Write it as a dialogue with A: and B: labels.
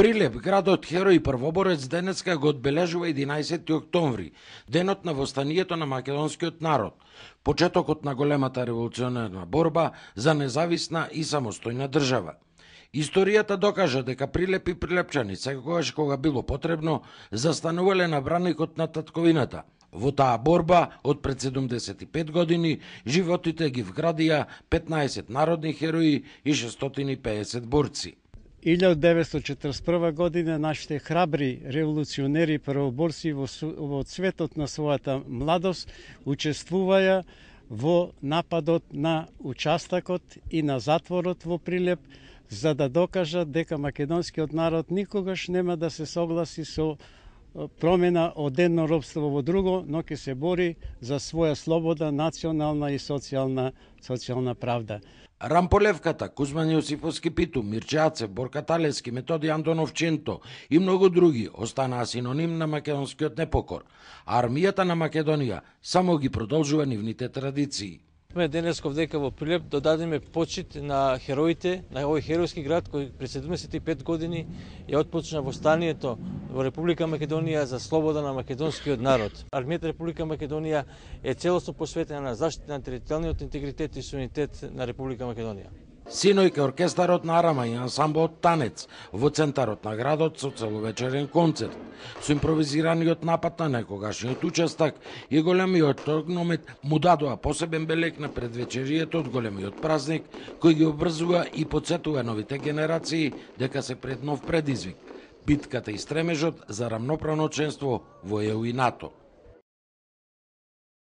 A: Прилеп, градот Херој и првоборец, денеска го одбележува 11 октомври, денот на востанието на македонскиот народ, почетокот на големата револуционерна борба за независна и самостојна држава. Историјата докажа дека Прилеп и прилепчани секогаш кога било потребно застанувале на браникот на татковината. Во таа борба од пред 75 години животите ги вградија 15 народни херои и 650 борци.
B: 1941 година нашите храбри револуционери и првоборци во цветот на својата младост учествуваја во нападот на участокот и на затворот во Прилеп, за да докажат дека македонскиот народ никогаш нема да се согласи со промена од едно робство во друго, но ќе се бори за своја слобода, национална и социјална правда.
A: Рамполевката, Кузман Јосифовски Питу, Мирче Ацев, Борка Талевски, Методи Антонов Ченто и многу други останаа синоним на македонскиот непокор, а армијата на Македонија само ги продолжува нивните традиции.
C: Денес дека во Прилеп додадеме почит на хероите на овој херојски град кој пред 75 години ја отпочна востанието во Република Македонија за слобода на македонскиот народ. Армијата Република Македонија е целосно посветена на заштита на територијалниот интегритет и суверенитет на Република Македонија.
A: Синојка оркестарот на Арама и ансамблот Танец во центарот на градот со целовечерен концерт, со импровизираниот напад на некогашниот учестак и големиот огномет му дадоа посебен белег на предвечерието од големиот празник, кој ги обврзува и потсетува новите генерации дека се пред нов предизвик, битката и стремежот за рамноправно членство во ЕУ и НАТО.